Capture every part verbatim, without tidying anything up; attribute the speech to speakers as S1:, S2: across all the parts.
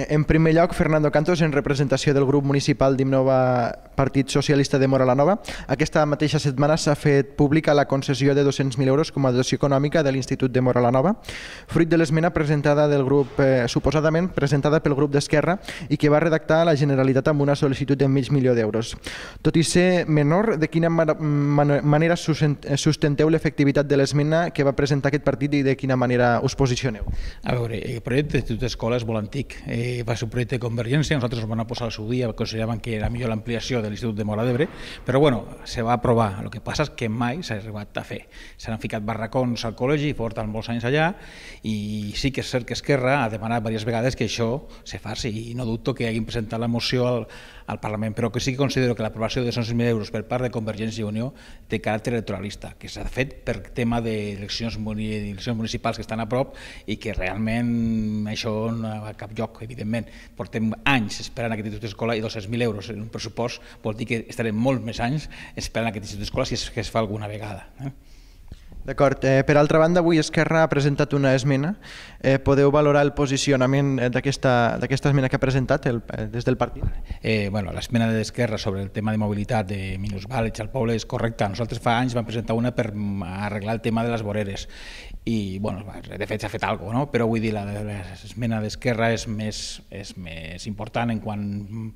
S1: En primer lloc, Fernando Cantos, en representació del grup municipal d'Innova Partit Socialista de Móra la Nova. Aquesta mateixa setmana s'ha fet pública la concessió de dos-cents mil euros com a dotació econòmica de l'Institut de Móra la Nova, fruit de l'esmena presentada del grup, eh, suposadament presentada pel grup d'Esquerra i que va redactar la Generalitat amb una sol·licitud de mig milió d'euros. Tot i ser menor, de quina manera sustenteu l'efectivitat de l'esmena que va presentar aquest partit i de quina manera us posicioneu?
S2: A veure, el projecte d'Institut d'Escola és molt antic. Eh, va ser un projecte de Convergència, nosaltres ens vam posar al seu dia, consideraven que era millor l'ampliació de l'Institut de Móra d'Ebre, però bueno, se va aprovar. El que passa és que mai s'ha arribat a fer. S'han ficat barracons al col·legi, porten molts anys allà, i sí que és cert que Esquerra ha demanat diverses vegades que això se faci, i no dubto que hagin presentat la moció al, al Parlament, però que sí que considero que l'aprovació de dos-cents mil euros per part de Convergència i Unió té caràcter electoralista, que s'ha fet per tema d'eleccions municipals que estan a prop i que realment això no va a cap lloc, evidentment. Portem anys esperant aquest institut d'escola i dos-cents mil euros en un pressupost vol dir que estarem molts més anys esperant aquest institut d'escola si és que es fa alguna vegada. Eh?
S1: D'acord. Eh, per altra banda, avui Esquerra ha presentat una esmena. Eh, podeu valorar el posicionament d'aquesta esmena que ha presentat el, des del partit?
S2: Eh, bueno, l'esmena d'Esquerra sobre el tema de mobilitat de minusvàlids al poble és correcta. Nosaltres fa anys vam presentar una per arreglar el tema de les voreres i, bueno, de fet s'ha fet alguna cosa, no? Però vull dir, l'esmena d'Esquerra és més, és més important en quan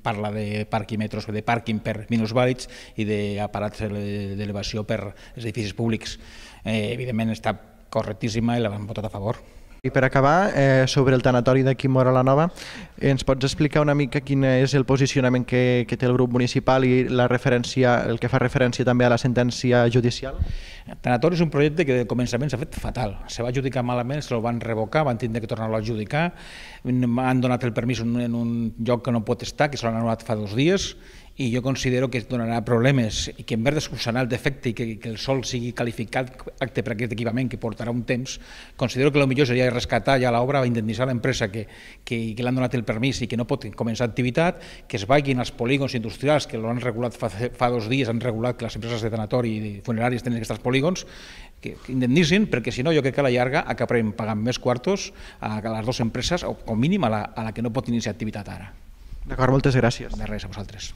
S2: parla de parquímetres, de pàrquing per minusvàlids i d'aparats d'elevació per els edificis públics. Eh, evidentment està correctíssima i la vam votar a favor.
S1: I per acabar, eh, sobre el tanatori d'aquí Móra la Nova, ens pots explicar una mica quin és el posicionament que, que té el grup municipal i la referència, el que fa referència també a la sentència judicial?
S2: El tanatori és un projecte que de començament s'ha fet fatal. Se va adjudicar malament, se el van revocar, van tindre que tornar-lo a adjudicar, han donat el permís en un lloc que no pot estar, que se l'han anul·lat fa dos dies, i jo considero que donarà problemes i que en vez de solucionar el defecte i que, que el sòl sigui qualificat acte per aquest equipament que portarà un temps, considero que el millor seria rescatar ja l'obra, indemnitzar l'empresa que, que, que l'han donat el permís i que no pot començar activitat, que es vagin als polígons industrials que l'han regulat fa, fa dos dies, han regulat que les empreses de tanatori i funeràries tenen que estar als polígons, que indemnitzin, perquè si no jo crec que a la llarga acabarem pagant més quartos a les dues empreses, o com mínim a la, a la que no pot iniciar activitat ara.
S1: D'acord, moltes gràcies.
S2: De res, a vosaltres.